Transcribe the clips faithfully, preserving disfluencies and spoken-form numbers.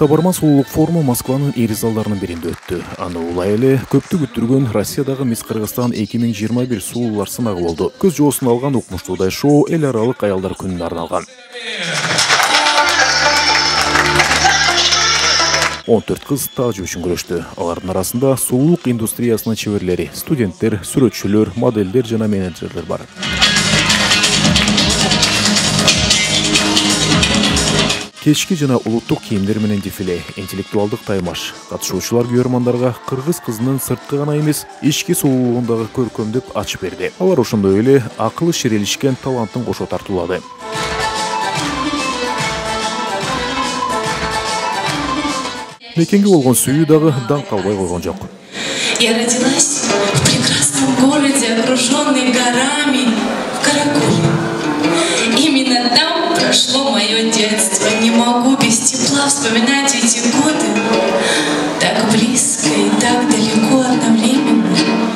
Табарман сулуулук форуму Москванын ири залдарынын биринде өттү. Аны улай эле көптү күттүргөн Россиядагы Мисс Кыргызстан эки миң жыйырма бир сулуулар сынагы болду. Көз жоосун алган укмуштуудай шоу эл аралык аялдар күнүнө арналган. он төрт кыз таажы үчүн күрөштү. Алардын арасында сулуулук индустриясынын чеберлери, студенттер, сүрөтчүлөр, моделдер жана менеджерлер бар. Кечки жана улуттук кийимдер менен дефиле, интеллектуалдык таймаш. Катышуучулар күйөрмандарга кыргыз кызынын сырткы гана эмес, ички сулуулугундагы көркөмдүк ачып берди. Алар ошондой эле акылы ширелишкен талантын кошо тартуулады. Мекенге болгон сүйүү дагы даң калбай койгон жок. Я родилась в прекрасном городе, окруженный горами, в Каракуле. Именно там прошло мое детство. Не могу без тепла вспоминать эти годы. Так близко и так далеко одновременно.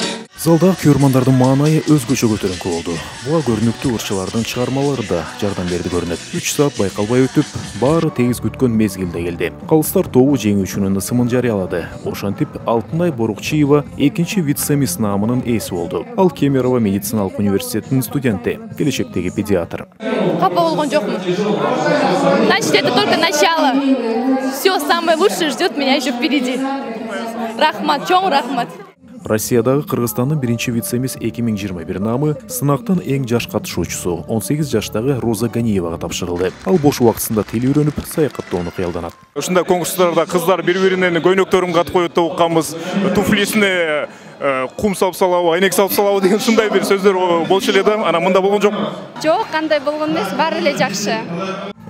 Залда күйөрмандардын маанайы өзгөчө көтөрүнкү болду. Буга көрүнүктүү ырчылардын чыгармалары да жардам берди көрүнөт. үч саат байкалбай өтүп, баары тегиз күткөн мезгилде келди. Калыстар тобу жеңүүчүнүн ысымын жарыялады. Ошентип Алтынай Борукчиева экинчи вице-мисс наамынын ээси болду. Ал Кемерово медициналык университетинин студенти, келечектеги педиатр. Капа болгон жокмун. Значит, это только начало. Все самое лучшее ждет меня еще впереди. Рахмат, чоң рахмат. Россиядагы Кыргызстандын биринчи вице-мисс эки миң жыйырма бир наамы сынактын эң жаш катышуучусу он сегиз жаштагы Роза Ганиевага тапшырылды. Ал бош убактысында тил үйрөнүп, саякаттоону кыялданат. Ушундай конкурстарда кыздар бири-биринин көйнөктөрүн кат коюп деп укканбыз. Туфлисине кум салып салабы, айнек салып салабы деген ушундай бир сөздөр болчу эле да, анан мында болгон жок. Жок, кандай болгон эмес, баары эле жакшы.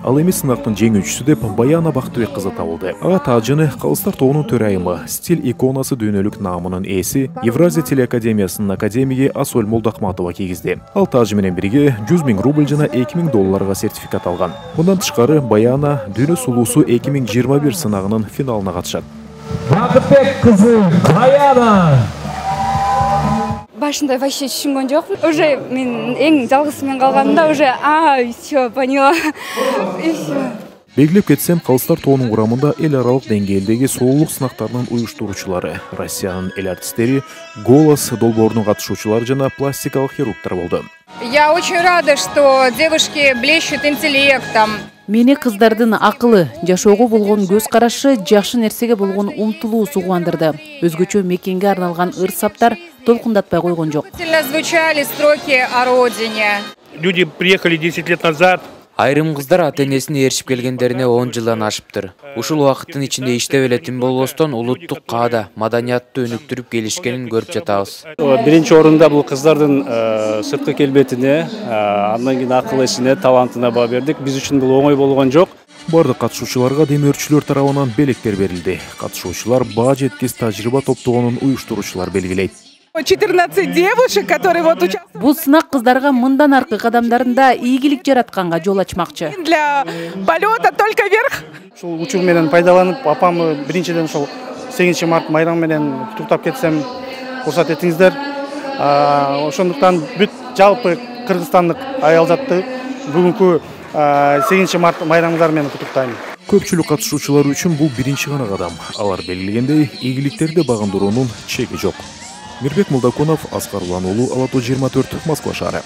Ал эми сынактын жеңүүчүсү деп Баяна Бактыбек кызы табылды. Ага таажыны Калыстар тобунун төрайымы, стиль иконасы дүйнөлүк наамынын ээси, Евразия телеакадемиясынын академиги Асоль Молдакматова кийгизди. Ал таажы менен бирге жүз миң рубль жана эки миң долларга сертификат алган. Мындан тышкары Баяна Дүйнө сулуусу эки миң жыйырма бир сынагынын финалына катышат. Бактыбек кызы Баяна. Башында вообще түшүнгөн жокмун. Уже мен эң жалгыз мен калганымда уже а всё поняла. Белгилеп кетсем, Калыстар тобунун курамында эл аралык деңгээлдеги сулуулук сынактарынын уюштуруучулары, Россиянын эл артисттери, голос долбоорунун катышуучулары жана пластикалык хирургдар болду. Я очень рада, что девушки блещут интеллектом. Мени кыздардын акылы, жашоого болгон көз карашы, жакшы нерсеге болгон умтулуусу кубандырды. Өзгөчө мекенге арналган ыр-саптар толкундатпай койгон жок. Звучали строки о родине. Люди приехали десять лет назад. Айрым кыздар ата-энесине эришип келгендерине он жылдан ашыптыр. Ушул убакыттын ичинде иштеп эле тим болбостон улуттук каада, маданиятты өнүктүрүп келишкенин көрүп жатабыз. Биринчи орунда бул кыздардын сырткы келбетине, андан кийин акыл эсине, талантына баа бердик. Биз үчүн бул оңой болгон жок. Бардык катышуучуларга демөөрчүлөр тарабынан белектер берилди. Катышуучулар баа жеткис тажрыйба топтогонун уюштуруучулар белгилейт. четырнадцать девушек, которые вот участвуют. Бул сынак кыздарга мындан аркы кадамдарында ийгилик жаратканга жол ачмакчы. Для полета только вверх. Ушул учур менен пайдаланып, апамы биринчиден ушул сегизинчи март майрам менен куттуктап кетсем, уруксат этиңиздер. Ошондуктан бүт жалпы кыргызстандык аялзатты бүгүнкү сегизинчи март майрамыңар менен куттуктайм. Көпчүлүк катышуучулар үчүн бул биринчи гана кадам. Алар белгилегендей, ийгиликтерди багындыруунун чеги жок. Мирбек Молдокунов, Аскар Улан уулу, Ала то жыйырма төрт, Москва шаары.